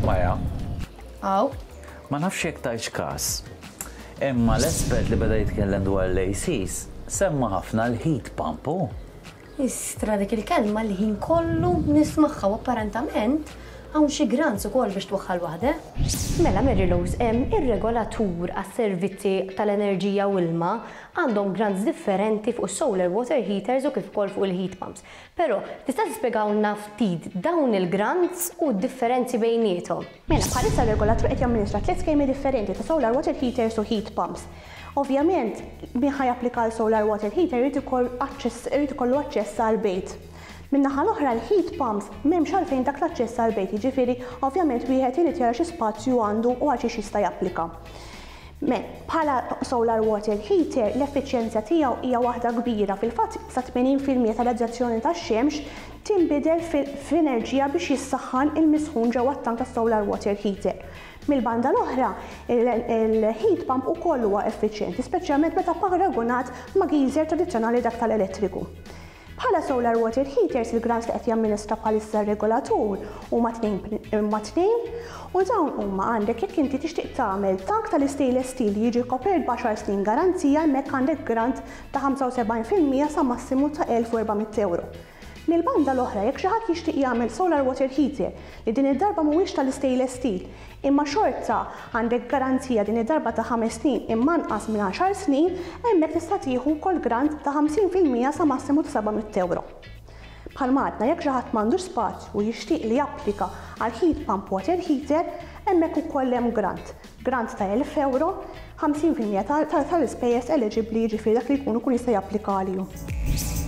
Maja. Aw. Ma nafx jekk tajtx każ, imma l-espert li beda jitkellem dwar l-ACs semma ħafna l-heat pump, hu. Istra dik il-kelma l-ħin kollu nismagħha u apparentament hawn xi grants ukoll biex twaħħal waħda. Mela Mary Rose, ir-regolatur għas-servizzi tal-enerġija u ilma għandhom grants differenti fuq is-solar water heaters u kif ukoll fuq il-heat pumps. Però, tista' tispjegawlna ftit dawn il-grants u d-differenzi bejniethom? Mela, bħalissa r-regolatur qed jamministra tliet skemi differenti ta' solar water heaters u heat pumps. Ovvjament, min ħa japplika għal solar water heater irid irid ikollu aċċess għall-bejt. Min-naħa l-oħra l-heat pumps m'hemmx għalfejn dak l-aċċess għall-bejt, jiġifieri ovvjament wieħed irid jara xi spazju għandu u għal xiex jista' japplika. Me, bħala solar water heater l-effiċjenza tiegħu hija waħda kbira, fil-fatt sa 80% tar-radjazzjoni tax-xemx tinbidel f'enerġija biex jissaħħan il-misħun ġewwa t-tank tas-solar water heater. Mill-banda l-oħra, il-heat pump ukoll huwa effiċjenti, speċjalment meta paragunat ma' geyser tradizzjonali dak tal-elettriku. Bħala solar water heaters il-grants li qed jamministra bħalissa r-regolatur huma huma tnejn u dawn huma għandek jekk inti tixtieq tagħmel tank tal-istainless steel li jiġi kopert b'għaxar snin garanzija hemmhekk għandek grant ta' 75% sa massimu ta' 1,400 ewro. Mill-banda l-oħra jekk xi ħadd jixtieq jagħmel solar water heater li din id-darba mhuwiex tal-istainless steel imma xorta għandek garanzija din id-darba ta' ħames snin imma anqas minn għaxar snin, hemmhekk tista' tieħu wkoll grant ta' 50% sa massimu ta' 700 ewro. Bħalma għadna jekk xi ħadd m'għandux spazju u jixtieq li japplika għal heat pump water heater, hemmhekk ukoll hemm grant. Grant ta' 1,000 ewro, 50% tal-ispejjeż eliġibbli jiġifieri dak li jkun ikun jista' japplika għalihom.